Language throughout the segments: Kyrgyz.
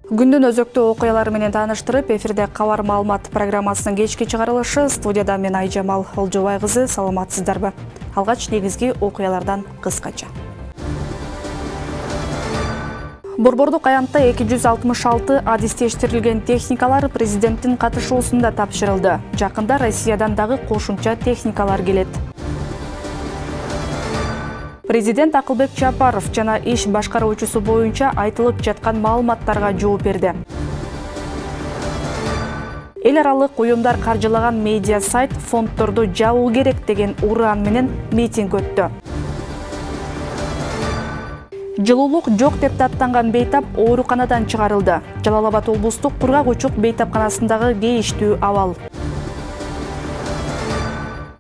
Күндүн өзөктүү окуялары менен тааныштырып, эфирде кабар маалымат программасынын кечки чыгарылышы. Студияда мен Айжамал Олжобай кызы. Саламатсыздарбы? Алгач негизги окуялардан кыскача. Борбордук аянтта 266 адистештирилген техникалар президенттин катышуусунда тапшырылды. Жакында Россиядан дагы кошумча техникалар келет. Президент Акылбек Жапаров жана иш башкаруучусу боюнча айтылып жаткан маалыматтарга жооп берди. Эл аралык уюмдар каржылаган медиа сайт фонддорду жабуу керек деген ураан менен митинг өттү. Жылуулук жок деп даттанган бейтап ооруканадан чыгарылды. Жалал Абад облустук Кургак Учук бейтапканасындагы кейиштүү абал.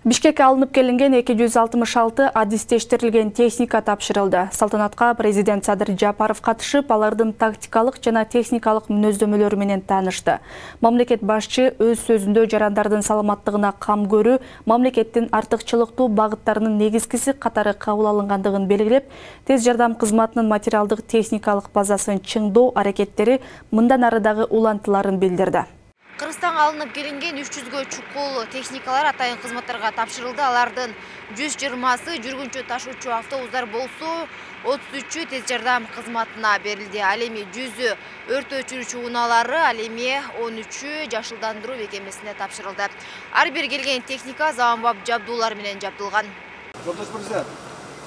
Бишкекке алынып келинген 266 адистештирилген техника тапшырылды. Салтанатка президент Садыр Жапаров катышып, алардын тактикалык жана техникалык мүнөздөмөлөрү менен таанышты. Мамлекет башчы өз сөзүндө жарандардын саламаттыгына кам көрүү, мамлекеттин артыкчылыктуу багыттарынын негизгиси катары кабыл алынгандыгын белгилеп, тез жардам кызматынын материалдык техникалык базасын чыңдоо аракеттери мындан ары дагы улантыларын билдирди. Кыргызстанга алынып келинген 300гө чукул техникалар атайын кызматтарга тапшырылды. Алардын 120сы жүргүнчү ташуучу автобустар болсо, 33-ü тез жардам кызматына берилди. Ал эми 100ü өрт өчүрүүчү унаалары, ал эми 13-ü жашылдандыруу бекемесине тапшырылды. Ар бир келген техника заманбап жабдуулар менен жабдылган.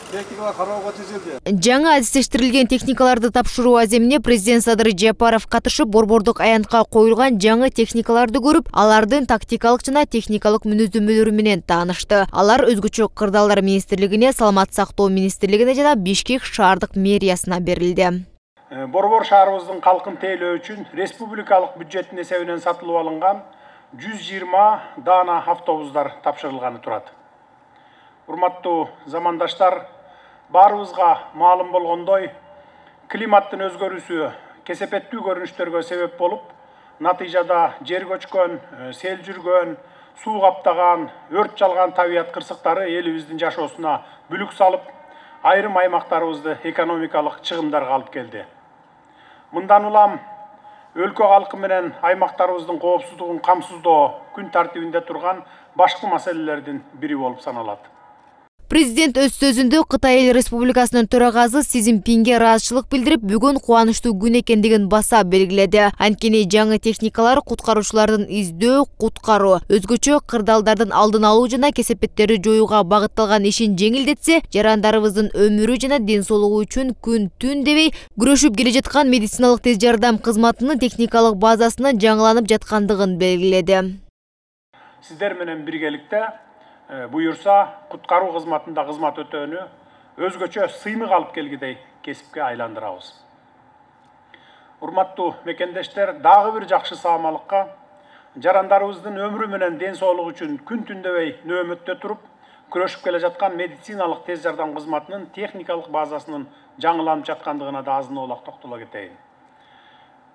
Техникалар кароого тизилди. Жаңы адистештирилген техникаларды тапшыруу аземине президент Садыр Жапаров катышып, борбордук аянтка коюлган жаңы техникаларды көрүп, алардын тактикалык жана техникалык мүнөздөмөлөрү менен таанышты. Алар өзгөчө кырдаалдар министрлигине, саламат сактоо министрлигине жана Бишкек шаардык мэриясына берилди. Борбор шаарыбыздын калкын тейлөө үчүн республикалык бюджеттин эсебинен сатылып алынган 120 даана автобустар тапшырылганы турат. Урматтуу замандаштар, баарыбызга маалым болгондой, климаттын өзгөрүүсү кесепеттүү көрүнүштөргө себеп болуп, натыйжада жер көчкөн, сел жүргөн, суу каптаган, өрт жалган табият кырсыктары элибиздин жашоосуна бүлүк салып, айрым аймактарыбызды экономикалык чыгымдарга алып келди. Мындан улам өлкө калкы менен аймактарыбыздын коопсуздугун камсыздоо күн тартибинде турган башкы маселелердин бири болуп саналат. Президент өз сөзүндө Кытай Эл Республикасынын төрагасы Си Цзиньпинге ыраазычылык билдирип, бүгүн кубанычтуу күн экендигин баса белгиледи. Анткени жаңы техникалар куткаруучулардын издөө, куткаруу, өзгөчө кырдаалдардын алдын алуу жана кесепеттерди жоюуга багытталган ишин жеңилдетсе, жарандарыбыздын өмүрү жана ден соолугу үчүн күн-түн дебей күрөшүп келе жаткан медициналык тез жардам кызматынын техникалык базасынын жаңыланып жаткандыгын белгиледи. Сиздер менен биргеликте буюрса, куткаруу кызматында кызмат өтөөнү өзгөчө сыймык алып келгидей кесипке айландырабыз. Урматтуу мекендештер, дагы бир жакшы саамалыкка жарандарыбыздын өмүрү менен ден соолугу үчүн күн-түн дебей нөөмөттө туруп, күрөшүп келе жаткан медициналык тез жардам кызматынын техникалык базасынын жаңыланып жаткандыгына да азын-оолак токтоло кетейин.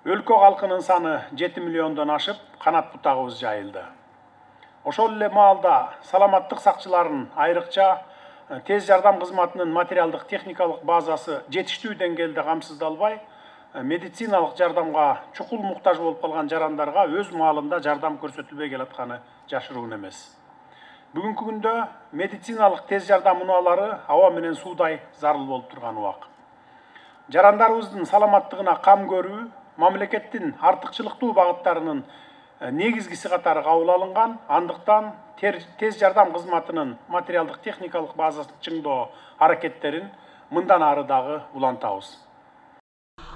Өлкө калкынын саны 7 миллиондон ашып, канат бутагыбыз жайылды. Ошол эле маалда саламаттык сакчыларын, айрыкча тез жардам кызматынын материалдык техникалык базасы жетиштүү деңгээлде камсыздалбай, медициналык жардамга чукул муктаж болуп калган жарандарга өз маалында жардам көрсөтүлбөй келатканы жашыруун эмес. Бүгүнкү күндө медициналык тез жардам унаалары аба менен суудай зарыл болуп турган убак. Жарандарыбыздын саламаттыгына кам көрүү, мамлекеттин артыкчылыктуу багыттарынын негизгиси катары кабыл алынган, андыктан тез жардам кызматынын материалдык техникалык базасын чыңдоо аракеттерин мындан ары дагы улантабыз.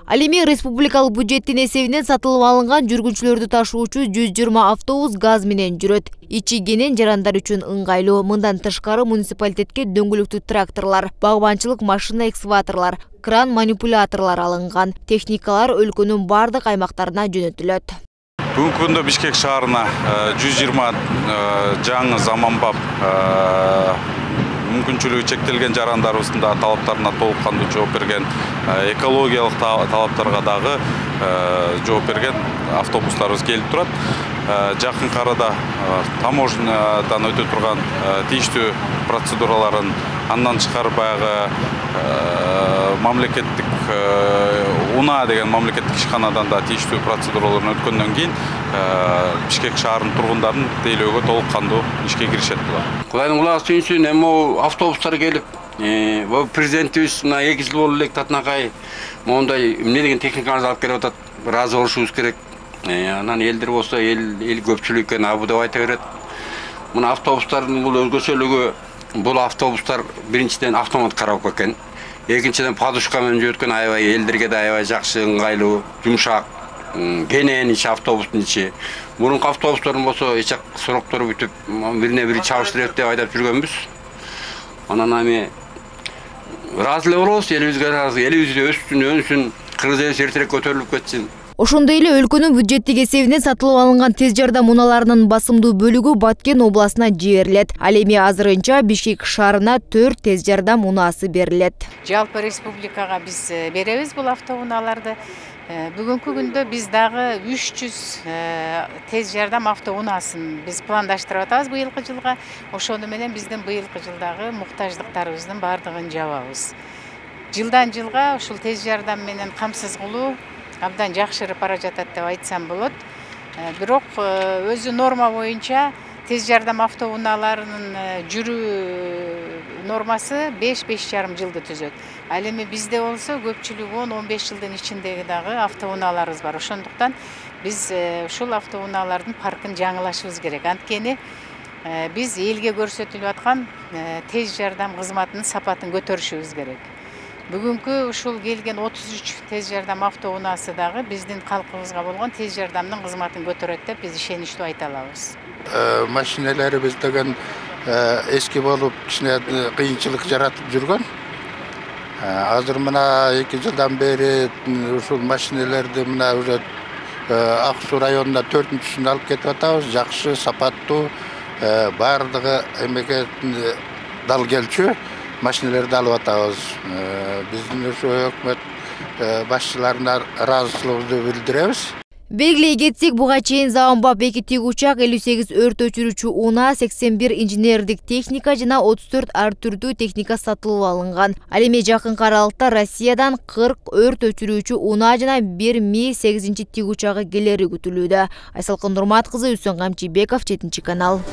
Ал эми республикалык бюджеттин эсебинен сатылып алынган жүргүнчүлөрдү ташуучу 120 автобус газ менен жүрөт. Ичи кенен жарандар үчүн ыңгайлуу. Мындан тышкары муниципалитетке дөңгөлөктүү тракторлор, багбанчылык машина экскаваторлор, кран манипуляторлор алынган. Техникалар өлкөнүн бардык аймактарына жөнөтүлөт. Бүгүнкү күндө Бишкек шаарына 120 жаңы заманбап мүмкүнчүлүгү чектелген жарандарыбыздын талаптарына толук кандуу жооп берген, экологиялык талаптарга дагы жооп берген автобустарыбыз келип турат. Жакын арада таможнядан өтө турган тийиштүү процедураларын, андан тышкары баягы мамлекеттик УНА деген мамлекеттик ишканадан да тийиштүү процедураларын өткөндөн кийин Бишкек шаарынын тургундарын тейлөөгө толук кандуу ишке киришет булар. Кудайдын кулак сүйүнсүн, эми автобустар келип, президентибиз мына 2 жыл болуп элек татынакай моундай эмне деген техникаларды алып келип атат. Ыраазы болушубуз керек. Анан элдер болсо эл көпчүлүк экен абы деп айта берет. Мына автобустардын бул өзгөчөлүгү, бул автобустар биринчиден автомат коробка экен. Экинчиден подушка менен жүрөткөн аябай элдерге да аябай жакшы, ыңгайлуу, жумшак, кенен ичи автобустун ичи. Мурунку автобустардын болсо эч сроктору бүтүп, бирине бири чабыштырып деп айдап жүргөнбүз. Анан эми ыраазы эле болобуз, элибизге ыраазы, элибиз өссүн, өнсүн, кыргыз эли эртерээк көтөрүлүп кетсин. Ошондой эле өлкөнүн бюджеттик эсебинен сатылып алынган тез жардам унааларынын басымдуу бөлүгү Баткен областына жиберилет. Ал эми азырынча Бишкек шаарына 4 тез жардам унаасы берилет. Жалпы республикага биз беребиз бул автоунааларды. Бүгүнкү күндө биз дагы 300 тез жардам автоунаасын биз пландаштырып атабыз быйылкы жылга. Ошону менен биздин быйылкы жылдагы муктаждыктарыбыздын баардыгын жабабыз. Жылдан жылга ушул тез жардам менен камсыз кылуу абдан жакшырып бара жатат деп айтсам болот. Бирок өзү норма боюнча тез жардам автоунааларынын жүрүү нормасы 5-5,5 жылды түзөт. Ал эми бизде болсо көпчүлүгү 10-15 жылдын ичиндеги дагы автоунааларыбыз бар. Ошондуктан биз ушул автоунаалардын паркын жаңылашыбыз керек. Анткени биз элге көрсөтүлүп аткан тез жардам кызматынын сапатын көтөрүшүбүз керек. Бүгүнкү ушул келген 33 тез жардам автоунаасы дагы биздин калкыбызга болгон тез жардамдын кызматын көтөрөт деп биз ишеничтүү айта алабыз. Машиналарыбыз деген эски болуп, кичине кыйынчылык жаратып жүргөн. Азыр мына 2 жылдан бери ушул машиналарды мына уже Ак Суу районуна 4-сүн алып кетип атабыз. Жакшы, сапаттуу, баардыгы эмеге дал келчү машиналарды алып атабыз. Биздин ошо өкмөт башчыларына ыраазычылыгыбызды билдиребиз. Белгилей кетсек, буга чейин Заманбап 2 тигучак, 58 өрт өчүрүүчү унаа, 81 инженердик техника жана 34 ар түрдүү техника сатылып алынган. Ал эми жакынкы аралыкта Россиядан 40 өрт өчүрүүчү унаа жана 1 Ми-8 тигучагы келери күтүлүүдө. Айсалкын Нурмат кызы, Үсөн Камчыбеков, 7 канал.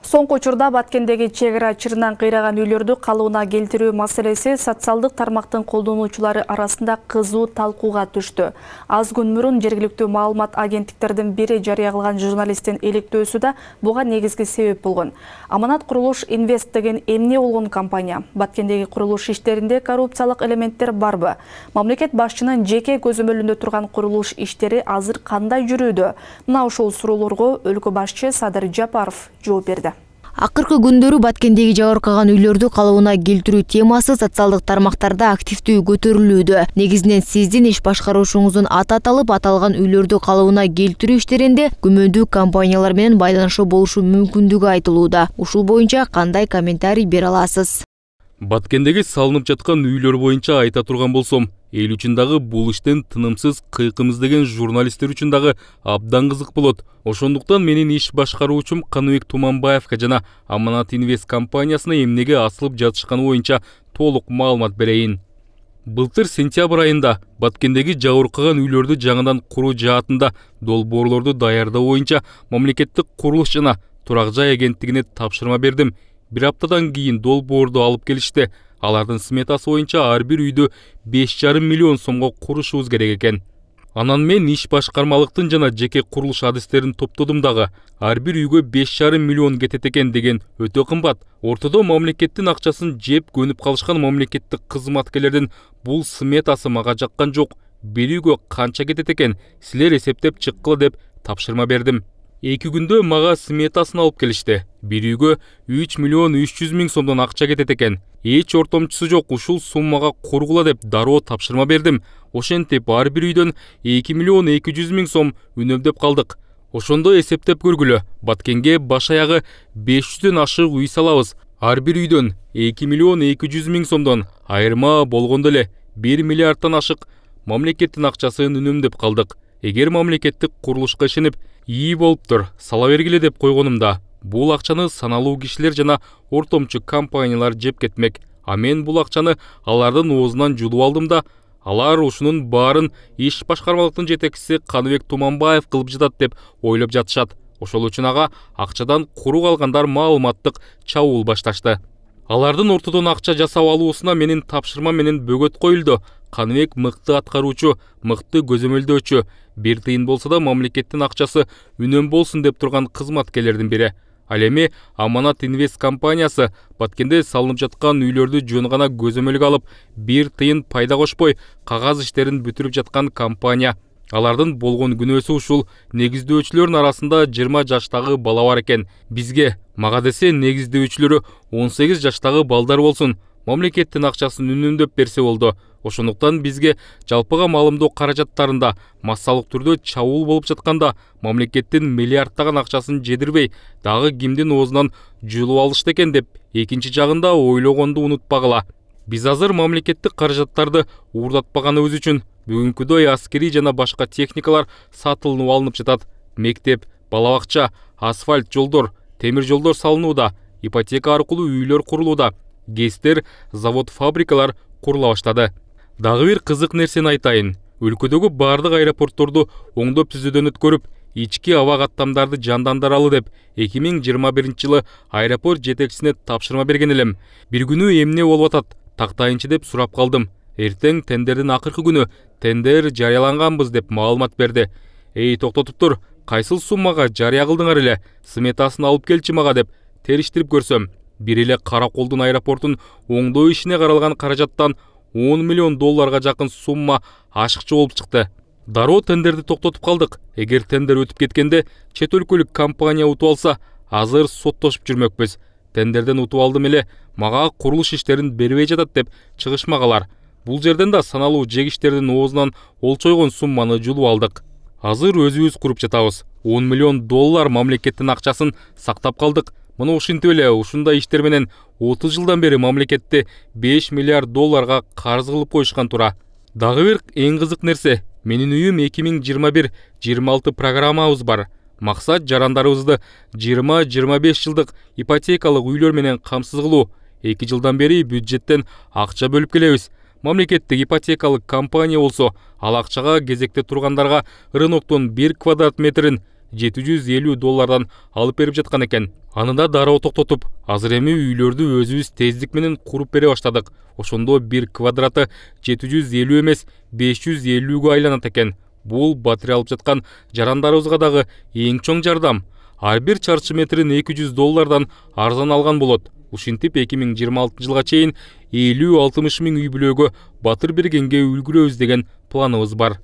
Соңку учурда Баткендеги чек ара чырынан кыйраган үйлөрдү калыбына келтирүү маселеси социалдык тармактын колдонуучулары арасында кызуу талкууга түштү. Аз күн мурун жергиликтүү маалымат агенттиктердин бири жарыя кылган журналисттин иликтөөсү да буга негизги себеп болгон. Аманат Курулуш Инвест деген эмне болгон компания? Баткендеги курулуш иштеринде коррупциялык элементтер барбы? Мамлекет башчынын жеке көзөмөлүндө турган курулуш иштери азыр кандай жүрүүдө? Мына ушул суроолорго өлкө башчы Садыр Жапаров жооп берди. Акыркы күндөрү Баткендеги жабыркаган үйлөрдү калыбына келтирүү темасы социалдык тармактарда активдүү көтөрүлүүдө. Негизинен сиздин иш башкаруучуңуздун аты аталып, аталган үйлөрдү калыбына келтирүү иштеринде күмөндүү компаниялар менен байланышы болушу мүмкүндүгү айтылууда. Ушул боюнча кандай комментарий бере аласыз? Баткендеги салынып жаткан үйлөр боюнча айта турган болсом, эл үчүн дагы бул иштен тынымсыз кыйкым издеген журналисттер үчүн дагы абдан кызык болот. Ошондуктан менин иш башкаруучум Каныбек Туманбаевга жана Аманат Инвест компаниясына эмнеге асылып жатышканы боюнча толук маалымат берейин. Былтыр сентябрь айында Баткендеги жабыркаган үйлөрдү жаңыдан куруу жаатында долбоорлорду даярдоо боюнча мамлекеттик курулуш жана турак жай агенттигине тапшырма бердим. Бир аптадан кийин долбоорду алып келишти. Алардын сметасы боюнча ар бир үйдү 5,5 миллион сомго курушубуз керек экен. Анан мен иш башкармалыктын жана жеке курулуш адистерин топтодум дагы. Ар бир үйгө 5,5 миллион кетет экен деген өтө кымбат. Ортодо мамлекеттин акчасын жеп көнүп калышкан мамлекеттик кызматкерлердин бул сметасы мага жаккан жок. Бир үйгө канча кетет экен, силер эсептеп чыккыла деп тапшырма бердим. 2 күндө мага сметасын алып келишти. Бир үйгө 3 миллион 300 миң сомдон акча кетет экен. Эч ортомчусу жок, ушул суммага кургула деп дароо тапшырма бердим. Ошентип ар бир үйдөн 2 миллион 200 миң сом үнөмдөп калдык. Ошондо эсептеп көргүлө. Баткенге баш аягы 500дөн ашык үй салабыз. Ар бир үйдөн 2 миллион 200 миң сомдон айырма болгондо эле 1 миллиардтан ашык мамлекеттин акчасын үнөмдөп калдык. Эгер мамлекеттик курулушка ишенип, ии болуптур, сала бергиле деп койгонумда, бул акчаны саналуу кишилер жана ортомчу компаниялар жеп кетмек. А мен бул акчаны алардын оозунан жулуп алдым да, алар ушунун баарын иш башкармалыктын жетекчиси Каныбек Туманбаев кылып жатат деп ойлоп жатышат. Ошол үчүн ага акчадан куру калгандар маалыматтык чабуул башташты. Алардын ортодон акча жасап алуусуна менин тапшырма менен бөгөт коюлду. Каныбек мыкты аткаруучу, мыкты көзөмөлдөөчү, бир тыйын болсо да мамлекеттин акчасы үнөм болсун деп турган кызматкерлердин бири. Ал эми Аманат Инвест компаниясы Баткенде салынып жаткан үйлөрдү жөн гана көзөмөлгө алып, бир тыйын пайда кошпой, кагаз иштерин бүтүрүп жаткан компания. Алардын болгон күнөөсү ушул: негиздөөчүлөрдүн арасында 20 жаштагы бала бар экен. Бизге, мага десе, негиздөөчүлөрү 18 жаштагы балдар болсун, мамлекеттин акчасын үнөмдөп берсе болду. Ошондуктан бизге жалпыга маалымдоо каражаттарында массалык түрдө чабуул болуп жатканда мамлекеттин миллиардтаган акчасын жедирбей, дагы кимдин оозунан жулуп алышты экен деп экинчи жагында ойлогонду унутпагыла. Биз азыр мамлекеттик каражаттарды уурдатпаганыбыз үчүн бүгүнкүдөй аскерий жана башка техникалар сатылынып алынып жатат. Мектеп, бала бакча, асфальт жолдор, темир жолдор салынууда, ипотека аркылуу үйлөр курулууда, ГЭСтер, завод, фабрикалар курула баштады. Дагы бир кызык нерсени айтайын. Өлкөдөгү бардык аэропортторду оңдоп түзүүдөн өткөрүп, ички аба каттамдарды жандандыралы деп 2021 жылы аэропорт жетекчисине тапшырма берген элем. Бир күнү эмне болуп атат, тактайынчы деп сурап калдым. Эртең тендердин акыркы күнү тендер жарыяланганбыз деп маалымат берди. Эй, токтотуп тур, кайсыл суммага жарыя кылдыңар эле? Сметасын алып келчи мага деп териштирип көрсөм, бир эле Караколдун аэропортун оңдоо ишине каралган каражаттан $10 миллион жакын сумма ашыкчы болуп чыкты. Дароо тендерди токтотуп калдык. Эгер тендер өтүп кеткенде чет өлкөлүк компания утуп алса, азыр соттошуп жүрмөкпүз. Тендерден утуп алдым эле, мага курулуш иштерин бербей жатат деп чыгышмагалар. Бул жерден да саналуу жегиштердин оозунан олчойгон сумманы жулуп алдык. Азыр өзүбүз куруп жатабыз. $10 миллион мамлекеттин акчасын сактап калдык. Мына ушинтип эле ушундай иштер менен 30 жылдан бери мамлекетти $5 миллиард карыз кылып коюшкан тура. Дагы бир эң кызык нерсе, менин үйүм 2021-26 программабыз бар. Максат жарандарыбызды 20-25 жылдык ипотекалык үйлөр менен камсыз кылуу. 2 жылдан бери бюджеттен акча бөлүп келебиз. Мамлекеттик ипотекалык компания болсо, ал акчага кезекте тургандарга рыноктон 1 квадрат метрин $750 алып берип жаткан экен. Аны да дароо токтотуп, азыр эми үйлөрдү өзүбүз тездик менен куруп бере баштадык. Ошондо 1 квадраты 750 эмес 550гө айланат экен. Бул батыры алып жаткан жарандарыбызга дагы эң чоң жардам. Ар бир чарчы метрин $200 арзан алган болот. Ушинтип 2026 жылга чейин 50-60 миң үй бүлөгө батыр бергенге үлгүрөбүз деген планыбыз бар.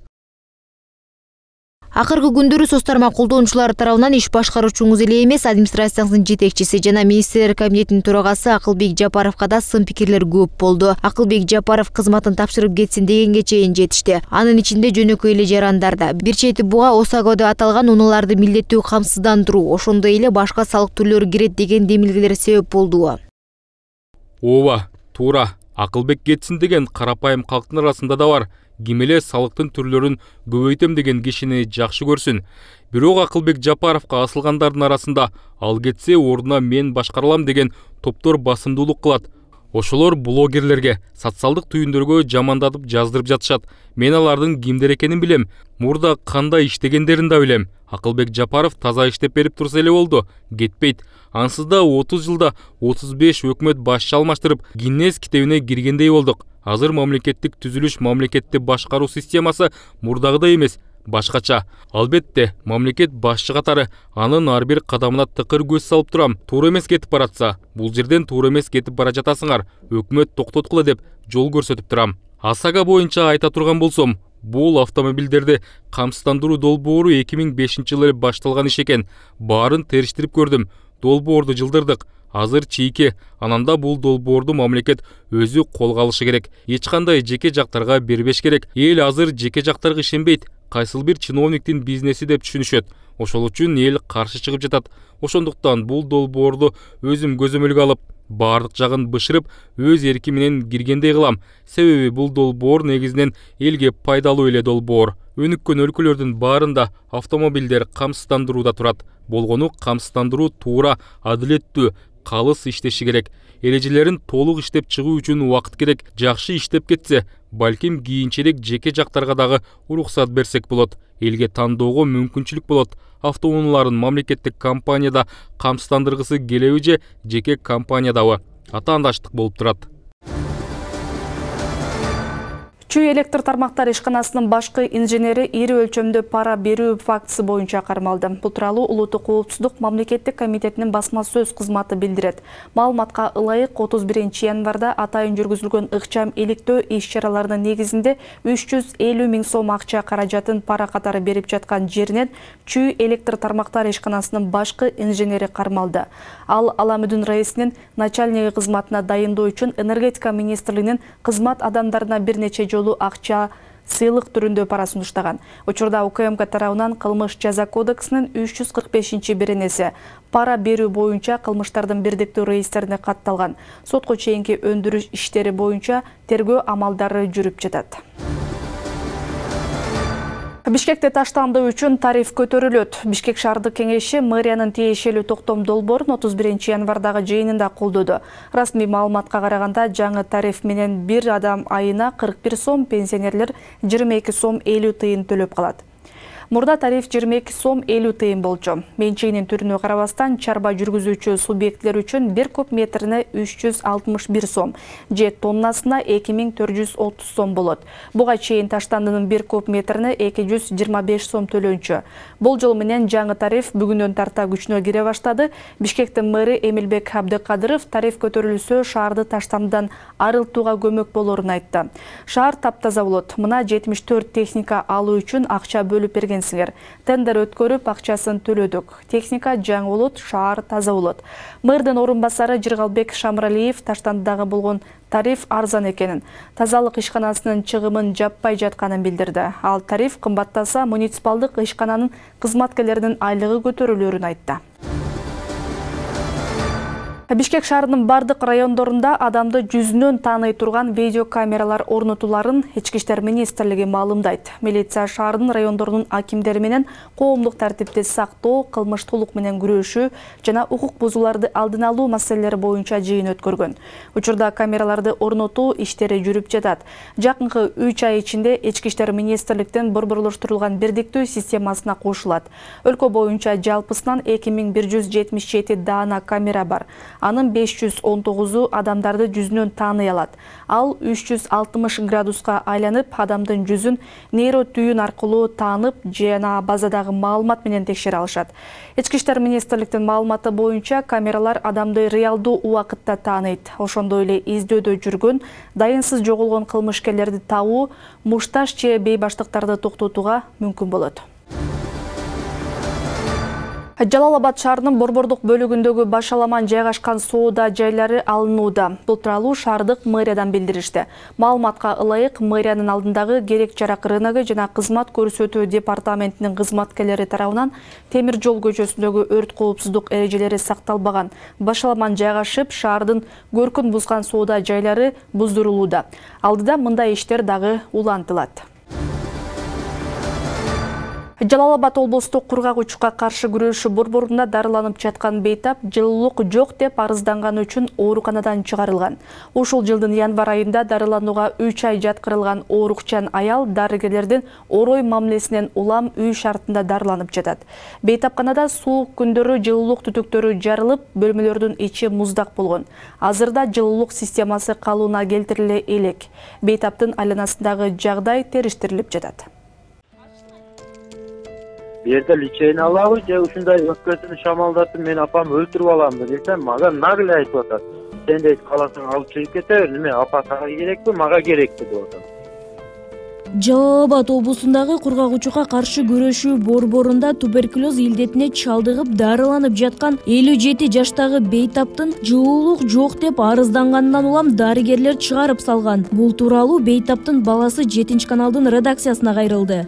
Акыркы күндөрү соц тармак колдонуучулары тарабынан иш башкаруучуңуз эле эмес, администрацияңыздын жетекчиси жана министрлер кабинетинин төрагасы Акылбек Жапаровго да сын пикирлер көп болду. Акылбек Жапаров кызматын тапшырып кетсин дегенге чейин жетишти. Анын ичинде жөнөкөй эле жарандарда, бир чети буга ОСАГО деп аталган унааларды милдеттүү камсыздандыруу, ошондой эле башка салык түрлөрү кирет деген демилгелер себеп болду. Ооба, туура. Акылбек кетсин деген карапайым калктын арасында да бар. Ким эле салыктын түрлөрүн көбөйтөм деген кишини жакшы көрсүн. Бирок Акылбек Жапаровго асылгандардын арасында ал кетсе ордуна мен башкаралам деген топтор басымдуулук кылат. Ошолор блогерлерге, социалдык түйүндөргө жамандатып жаздырып жатышат. Мен алардын кимдер экенин билем, мурда кандай иштегендерин да билем. Акылбек Жапаров таза иштеп берип турса эле болду, кетпейт. Ансыз да 30 жылда 35 өкмөт башчы алмаштырып, Гиннес китебине киргендей болдук. Азыр мамлекеттик түзүлүш, мамлекетти башкаруу системасы мурдагыдай эмес, башкача. Албетте, мамлекет башчы катары анын ар бир кадамына тыкыр көз салып турам. Туура эмес кетип баратса, бул жерден туура эмес кетип бара жатасыңар. Өкмөт токтоткула деп жол көрсөтүп турам. ОСАГО боюнча айта турган болсом, бул автомобилдерди камсыздандыруу долбоору 2005 жылы башталган иш экен. Баарын териштирип көрдүм. Долбоорду жылдырдык. Азыр чийки, ананда бул долбоорду мамлекет өзү колго алышы керек. Эч кандай жеке жактарга бербеш керек. Эл азыр жеке жактарга ишенбейт. Кайсыл бир чиновниктин бизнеси деп түшүнүшөт. Ошол үчүн эл каршы чыгып жатат. Ошондуктан бул долбоорду өзүм көзөмөлгө алып, бардык жагын бышырып өз эрки менен киргендей кылам. Себеби бул долбоор негизинен элге пайдалуу эле долбоор. Өнүккөн өлкөлөрдүн баарында автомобилдер камсыздандырууда турат. Болгону камсыздандыруу туура, адилеттүү, калыс иштеши керек. Эрежелерин толук иштеп чыгуу үчүн убакыт керек. Жакшы иштеп кетсе, балким кийинчерээк жеке жактарга дагы уруксат берсек болот. Элге тандоого мүмкүнчүлүк болот. Автоунааларын мамлекеттик компанияда камсыздандыргысы келеби же жеке компаниядабы атаандаштык болуп турат. Чүй электр тармактар ишканасынын башкы инженери ири өлчөмдө пара берүү фактысы боюнча кармалды. Бул тууралуу Улуттук коопсуздук мамлекеттик комитетинин басма сөз кызматы билдирет. Маалыматка ылайык 31 январда атайын жүргүзүлгөн ыкчам иликтөө иш-чараларынын негизинде 350 миң сом акча каражатын пара катары берип жаткан жеринен Чүй электр тармактар ишканасынын башкы инженери кармалды. Ал Аламүдүн раисинин начальниги кызматына дайындоо үчүн энергетика министрлигинин кызмат адамдарына бир нече жолу акча сыйлык түрүндө пара сунуштаган. Учурда УКМК тарабынан кылмыш жаза кодексинин 345-беренеси пара берүү боюнча кылмыштардын бирдиктүү реестрине катталган. Сотко чейинки өндүрүш иштери боюнча тергөө амалдары жүрүп жатат. Бишкекте таштандуу үчүн тариф көтөрүлөт. Бишкек шаардык кеңеши мэриянын тиешелүү токтом долбоорун 31 январдагы жыйынында колдоду. Расмий маалыматка караганда жаңы тариф менен бир адам айына 41 сом, пенсионерлер 22 сом 50 тыйын төлөп калат. Мурда тариф 22 сом 50 тыйын болчу. Менчегинин түрүнө карабастан чарба жүргүзүүчү субъектлер үчүн 1 куб метрине 361 сом, же тоннасына 2430 сом болот. Буга чейин таштандынын 1 куб метрине 225 сом төлөнчү. Болжол менен жаңы тариф бүгүндөн тарта күчүнө кире баштады. Бишкектин мэри Эмилбек Абдыкадыров тариф көтөрүлсө шаарды таштандыдан арылтууга көмөк болорун айтты. Шаар таптаза болот. Мына 74 техника алуу үчүн акча бөлүп берген. Тендер өткөрүп акчасын төлөдүк. Техника жаңы болот, шаар таза болот. Мэрдин орун басары Жыргалбек Шамралиев таштандыдагы болгон тариф арзан экенин, тазалык ишканасынын чыгымын жаппай жатканын билдирди. Ал тариф кымбаттаса муниципалдык ишкананын кызматкерлеринин айлыгы көтөрүлөрүн айтты. Бишкек шаарынын бардык райондорунда адамды жүзүнөн тааный турган видеокамералар орнотуларын Ички иштер министрлиги маалымдайт. Милиция шаардын райондорунун акимдери менен коомдук тартипти сактоо, кылмыштуулук менен күрөшүү жана укук бузууларды алдын алуу маселелери боюнча жыйын өткөргөн. Учурда камераларды орнотуу иштери жүрүп жатат. Жакынкы 3 ай ичинде Ички иштер министрликтин борборлоштурулган бирдиктүү системасына кошулат. Өлкө боюнча жалпысынан 2177 даана камера бар. Анын 519-у адамдарды жүзүнөн тааный алат. Ал 360 градуска айланып, адамдын жүзүн нейро түйүн аркылуу таанып, жана базадагы маалымат менен текшере алышат. Ички иштер министрликтин маалыматы боюнча камералар адамды реалдуу убакытта тааныйт. Ошондой эле издөөдө жүргөн, дайынсыз жоголгон кылмышкерлерди табуу, мушташ же бейбаштыктарды токтотууга мүмкүн болот. Жалал Абад шаарынын борбордук бөлүгүндөгү башаламан жайгашкан соода жайлары алынууда. Бул тууралуу шаардык мэриядан билдиришти. Маалыматка ылайык, мэриянын алдындагы керек жарак рыногу жана кызмат көрсөтүү департаментинин кызматкерлери тарабынан Темир жол көчөсүндөгү өрт коопсуздук эрежелери сакталбаган башаламан жайгашып, шаардын көркүн бузган соода жайлары буздурулууда. Алдыда мындай иштер дагы улантылат. Жалал Абад облустук кургак учукка каршы күрөшүү борборунда дарыланып жаткан бейтап жылуулук жок деп арызданган үчүн ооруканадан чыгарылган. Ушул жылдын январ айында дарыланууга 3 ай жаткырылган оорукчан аял дарыгерлердин орой мамилесинен улам үй шартында дарыланып жатат. Бейтапканада суук күндөрү жылуулук түтүктөрү жарылып, бөлмөлөрдүн ичи муздак болгон. Азырда жылуулук системасы калыбына келтириле элек. Бейтаптын айланасындагы жагдай териштирилип жатат. Жерде личейни алабы же ушундай өпкөсүн шамалдатып мен апам өлтүрүп аламбы десем, мага нагле айтып атат. Сен дейт каласаң алып чыгып кете бер, неме апа сага керекпи, мага керекпи деп атат. Жалал Абад облусундагы кургак учукка каршы күрөшүү борборунда туберкулез илдетине чалдыгып дарыланып жаткан 57 жаштагы бейтаптын жылуулук жок деп арыздангандан улам дарыгерлер чыгарып салган. Бул тууралуу бейтаптын баласы 7 каналдын редакциясына кайрылды.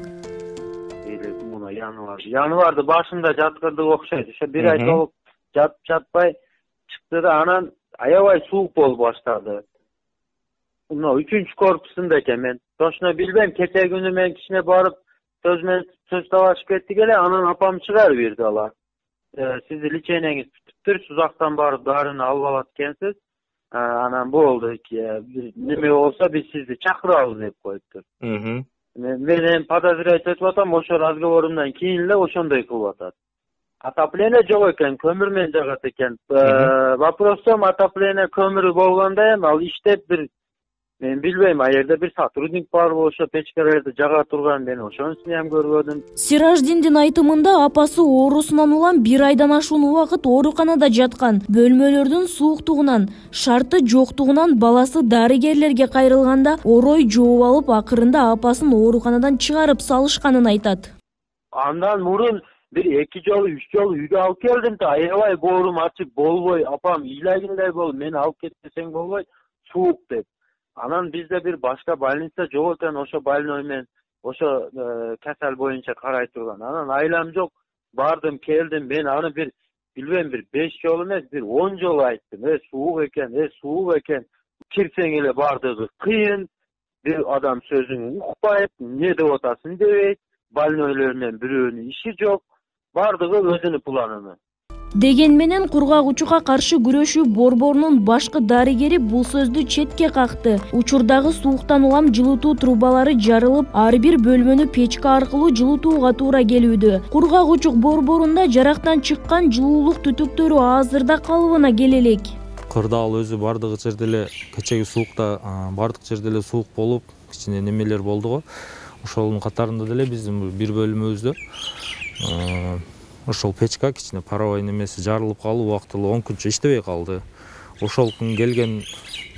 Январды башында жаткырдык окшойт. Ошо бир ай толук жатпай чыкты да анан аябай суук болуп баштады. Мына 3-чү корпусунда экен мен. Точно билбейм, кече күнү мен кичине барып сөз талашып кеттик эле, анан апам чыгарып берди алар. Сизди лечениеңиз бүтүптүр, узактан барып дарыны алып алат экенсиз. Анан болду, неме болсо биз сизди чакырабыз деп коюптур. Мен эми подозревать этип атам, ошо разговорумдан кийин эле ошондой кылып атат. Отопление жок экен, көмүр менен жагат экен. Вопросом отопление көмүрү болгондо эми ал иштеп мен билбейм, а жерде бир сотрудник барбы ошо печкалерди жага турган, мен ошонусун ham көрбөдүм. Сираждиндин айтымында апасы оорусунан улам 1 айдан ашуун убакыт ооруканада жаткан. Бөлмөлөрдүн сууктугунан, шарты жоктугунан баласы дарыгерлерге кайрылганда орой жооп алып, акырында апасын ооруканадан чыгарып салышканын айтат. Андан мурун бир 2 жолу 3 жолу үйгө алып келдим да, аябай боорум ачып болбой, апам ыйлагандай болуп, мени алып кетсең болбойт, суук деп. Анан бизде бир башка больница жок экен, ошо больной менен ошо касал боюнча карай турган. Анан айлам жок, бардым, келдим, мен аны бир билбейм, бир 5 жолу эмес, бир 10 жолу айттым. Суук экен. Кирсең эле бардыгы кыйын, бир адам сөзүн укпайт, не деп атасың дебейт, больнойлор менен бирөөнүн иши жок, бардыгы өзүнүн планына. Деген менен кургагучуга каршы күрөшүү борборунун башкы дарыгери бул сөздү четке какты. Учурдагы сууктан улам жылытуу трубалары жарылып, ар бир бөлмөнү печка аркылуу жылытууга туура келүүдө. Кургагучук борборунда жарактан чыккан жылуулук түтүктөрү азырда калыбына келе элек. Кырдаал өзү бардыгы жерде эле кечеги суукта бардык жерде эле суук болуп, кичине немелер болду го. Ошонун катарында деле биздин бир бөлмөбүздө ошол печка кичине паровой немеси жарылып калып, убактылуу 10 күнчө иштебей калды. Ошол күн келген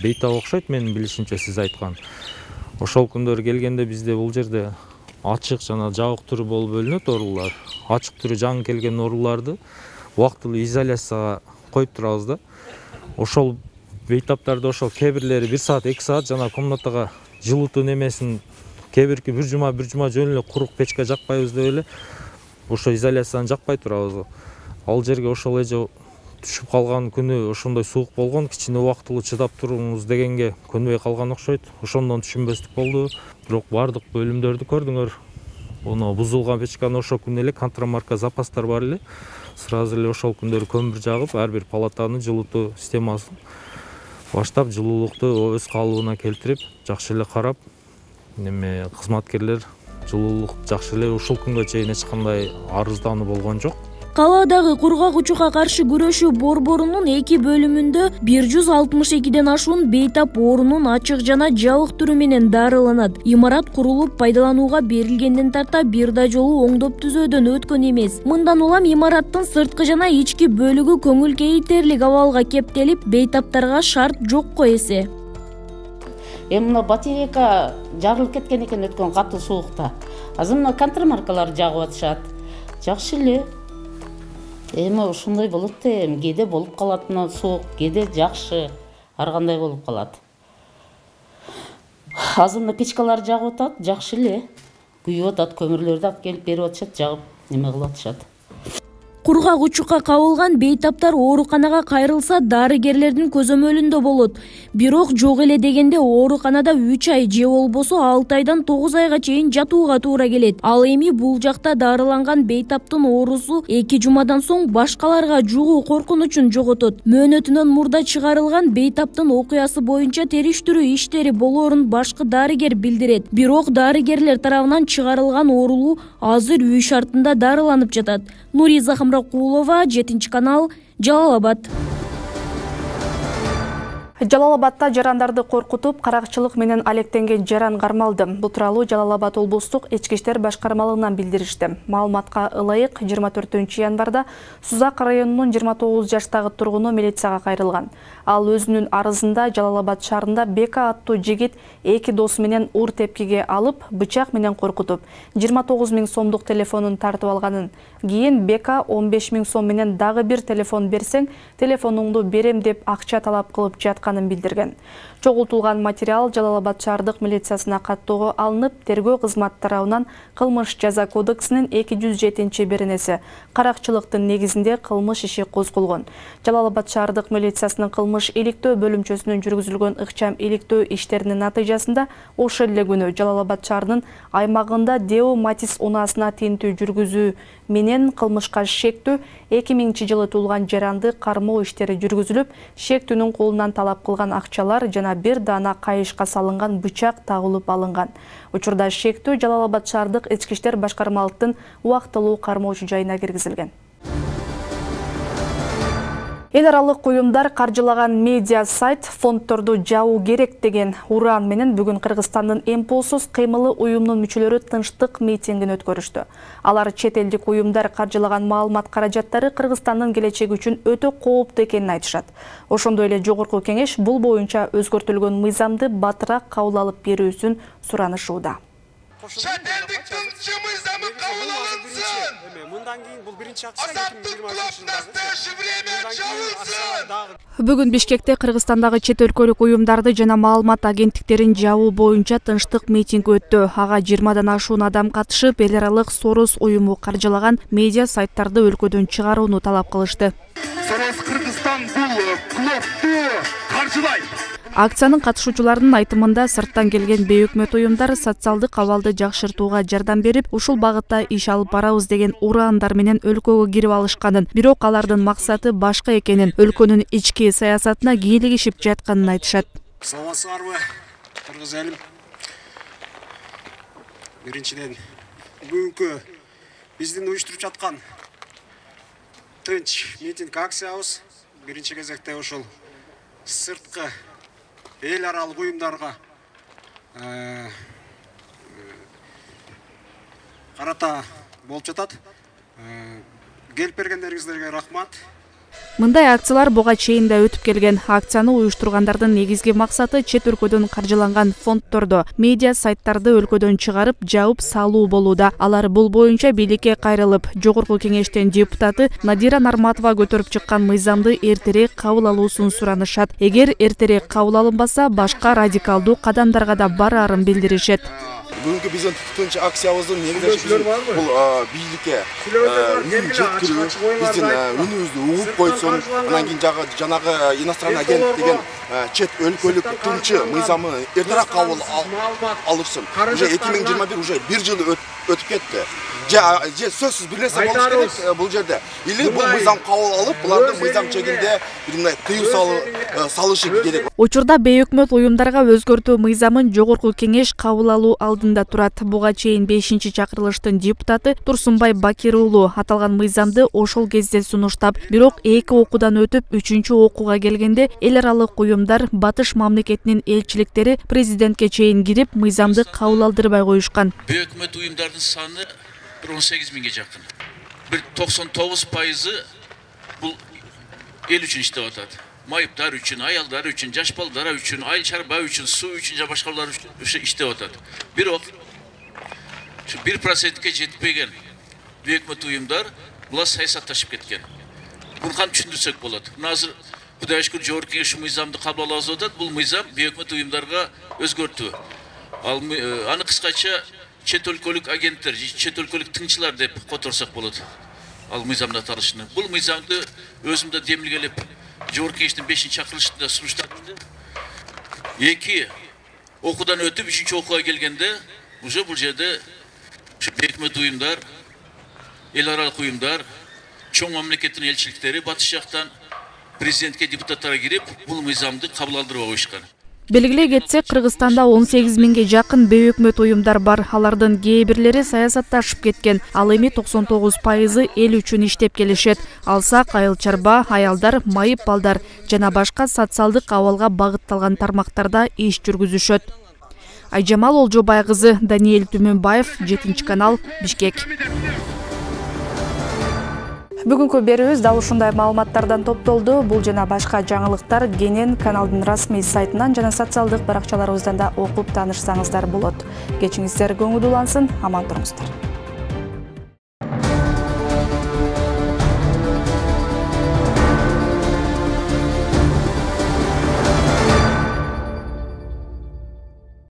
бейтап окшойт, менин билишимче сиз айткан. Ошол күндөр келгенде бизде бул жерде ачык жана жабык түрү болуп бөлүнөт оорулар. Ачык түрү жаңы келген ооруларды убактылуу изоляцияга коюп турабыз да. Ошол бейтаптарды ошол кээ-бирлери 1 саат, 2 саат жана комнатага жылытуу немесин кээ-бирки бир жума жөн эле курук печка жакпайбыз деп эле ошо изоляцияны жакпай турабыз. Ал жерге ошол эже түшүп калган күнү ошондой суук болгон, кичине убактылуу чыдап туруңуз дегенге көнбөй калган окшойт. Ошондон түшүнбөстүк болду. Бирок бардык бөлүмдөрдү көрдүңөр. Ону бузулган печканы ошол күнү эле контрамарка запастар бар эле. Сразу эле ошол күндөрү көмүр жагып, ар бир палатаны жылытуу системасын баштап, жылуулукту өз калыбына келтирип, жакшы эле карап, неме кызматкерлер жылуулук жакшы эле ушул күнгө чейин эч кандай арыздануу болгон жок. Калаадагы кургагучуга каршы күрөшүү борборунун 2 бөлүмүндө 162ден ашуун бейтап оорунун ачык жана жабык түрү менен дарыланат. Имарат курулуп пайдаланууга берилгенден тарта бир да жолу оңдоп түзөөдөн өткөн эмес. Мындан улам имараттын сырткы жана ички бөлүгү көңүл кейитерлик абалга кептелип, бейтаптарга шарт жокко эсе. Мына батарейка жарылып кеткен экен өткөн катуу суукта. Азыр мына контрамаркалар жагып атышат. Жакшы эле. Эми ушундай болот да, кээде болуп калат мына суук, кээде жакшы, ар кандай болуп калат. Азыр мына печкалар жагып атат, жакшы эле. Күйүп атат, көмүрлөрдү алып келип берип атышат, жагып неме кылып атышат. Кургагучукка кабылган бейтаптар ооруканага кайрылса дарыгерлердин көзөмөлүндө болот. Бирок жок эле дегенде ооруканада 3 ай же болбосо 6 айдан 9 айга чейин жатууга туура келет. Ал эми бул жакта дарыланган бейтаптын оорусу 2 жумадан соң башкаларга жугуу коркунучун жоготот. Мөөнөтүнөн мурда чыгарылган бейтаптын окуясы боюнча териштирүү иштери болоорун башкы дарыгер билдирет. Бирок дарыгерлер тарабынан чыгарылган оорулуу азыр үй шартында дарыланып жатат. Нуриза Хамракулова, 7-канал, Жалал-Абад. Жалал-Абадта жарандарды коркутуп, каракчылык менен алектенген жаран кармалды. Бул тууралуу Жалал-Абад облустук ички иштер башкармалыгынан билдиришти. Маалыматка ылайык 24-январда Сузак районунун 29 жаштагы тургуну милицияга кайрылган. Ал өзүнүн арызында Жалал-Абад шаарында Бека аттуу жигит 2 досу менен ур тепкиге алып, бычак менен коркутуп, 29 000 сомдук телефонун тартып алганын. Кийин Бека 15 000 сом менен дагы бир телефон берсең, телефонуңду берем деп акча талап кылып жаткан жатканын билдирген. Чогултулган материал Жалал Абад шаардык милициясына каттоого алынып, тергөө кызмат тарабынан кылмыш жаза кодексинин 207-беренеси каракчылыктын негизинде кылмыш иши козголгон. Жалал Абад шаардык милициясынын кылмыш иликтөө бөлүмчөсүнүн жүргүзүлгөн ыкчам иликтөө иштеринин натыйжасында ошол эле күнү Жалал Абад шаарынын аймагында Део Матис унаасына тинтүү жүргүзүү менен кылмышка шектүү 2000-жылы туулган жаранды кармоо иштери жүргүзүлүп, шектүүнүн колунан талап кылган акчалар жана бир даана кайышка салынган бычак табылып алынган. Учурда шектүү Жалал Абад шаардык ички иштер башкармалыктын убактылуу кармоочу жайына киргизилген. Эл аралык уюмдар каржылаган медиа сайт фондторду жабуу керек деген уран менен бүгүн Кыргызстандын эмпосуз кыймылы уюмунун мүчөлөрү тынчтык митингин өткөрүштү. Алар чет элдик уюмдар каржылаган маалымат каражаттары Кыргызстандын келечеги үчүн өтө кооптуу экенин айтышат. Ошондой эле жогорку кеңеш бул боюнча өзгөртүлгөн мыйзамды батыраак кабыл алып берүүсүн суранышууда. Чет элдик тынчы мыйзамы кабыл алынсын. Мындан кийин бул биринчи акция 2020. Бүгүн Бишкекте Кыргызстандагы чет өлкөлүк уюмдарды жана маалымат агенттиктерин жабуу боюнча тынчтык митинг өттү. Ага 20дан ашуун адам катышып, эл аралык Сорос уюму каржылаган медиа сайттарды өлкөдөн чыгарууну талап кылышты. Сорос Кыргызстан бул клубду каржылайт. Акциянын катышуучуларынын айтымында сырттан келген бейөкмөт уюмдар социалдык абалды жакшыртууга жардам берип, ушул багытта иш алып барабыз деген ураандар менен өлкөгө кирип алышканын, бирок алардын максаты башка экенин, өлкөнүн ички саясатына кийлигишип жатканын айтышат. Саламатсыздарбы, кыргыз элим? Биринчиден, бүгүнкү биздин уюштуруп жаткан тынч митинг акциябыз биринчи кезекте ошол сырткы эл аралык уюмдарга карата болуп жатат. Келип бергендериңиздерге рахмат. Мындай акциялар буга чейин да өтүп келген. Акцияны уюштургандардын негизги максаты чет өлкөдөн каржыланган фондторду, медиа сайттарды өлкөдөн чыгарып, жабып салуу болууда. Алар бул боюнча бийликке кайрылып, жогорку кеңештин депутаты Надира Нарматова көтөрүп чыккан мыйзамды эртерээк кабыл алуусун суранышат. Эгер эртерээк кабыл алынбаса, башка радикалдуу кадамдарга да бараарын билдиришет. Бүгүнкү биздин тынч акциябыздын негизги бул бийликке жеткирүү, биздин үнүбүздү угуп койсун, анан кийин жанагы иностранный агент деген чет өлкөлүк тынчы мыйзамы эртерээк кабыл алышсын. Уже 2021 уже бир жыл өтүп кетти. Же сөзсүз бир нерсе болуш керек бул жерде. Или бул мыйзам кабыл алып, булардын мыйзам чегинде бир мындай тыюу салышы керек. Учурда бейөкмөт уюмдарга өзгөртүү мыйзамын жогорку кеңеш кабыл алуу алдында турат. Буга чейин 5-чакырылыштын депутаты Турсунбай Бакир уулу аталган мыйзамды ошол кезде сунуштап, бирок 2 окуудан өтүп 3-окууга келгенде эл аралык уюмдар Батыш мамлекетинин элчиликтери президентке чейин кирип, мыйзамды кабыл алдырбай коюшкан. Бейөкмөт уюмдардын саны 18 миңге жакын. 99% бул эл үчүн иштеп атат. Майыптар үчүн, аялдар үчүн, жаш балдар үчүн, айыл чарба үчүн, суу үчүн жана башкалар үчүн иштеп атат. Бирок 1%ке жетпеген бейөкмөт уюмдар була саясатташып кеткен. Буну кантип түшүндүрсөк болот? Азыр Кудайга шүкүр жогорку кеңеш мыйзамды кабыл алып атат. Бул мыйзам бейөкмөт уюмдарга өзгөртүү. Аны кыскача чет өлкөлүк агенттер, чет өлкөлүк тыңчылар деп которсок болот. Ал мыйзамды аталышыны. Бул мыйзамды өзүмдө демилгелеп, жогорку кеңештин 5-чакырылышында сунуштадым. 2 окуудан өтүп 3-окууга келгенде уже бул жерде бейөкмөт уюмдар, эл аралык уюмдар, чоң мамлекеттин элчиликтери батыш жактан президентке, депутаттарга кирип, бул мыйзамды кабыл алдырбай коюшкан. Белгилей кетсек, Кыргызстанда 18 миңге жакын бейөкмөт уюмдар бар. Алардын кээ бирлери саясатташып кеткен. Ал эми 99% эл үчүн иштеп келишет. Алсак айыл чарба, аялдар, майып балдар жана башка социалдык абалга багытталган тармактарда иш жүргүзүшөт. Айжамал Олжобай кызы, Даниэль Түмөнбаев, 7-канал, Бишкек. Бүгүнкү берүүбүз дал ушундай маалыматтардан топтолду. Бул жана башка жаңылыктар кенен каналдын расмий сайтынан жана социалдык баракчаларыбыздан да окуп таанышсаңыздар болот. Кечиңиздер көңүл улансын, аман туруңуздар.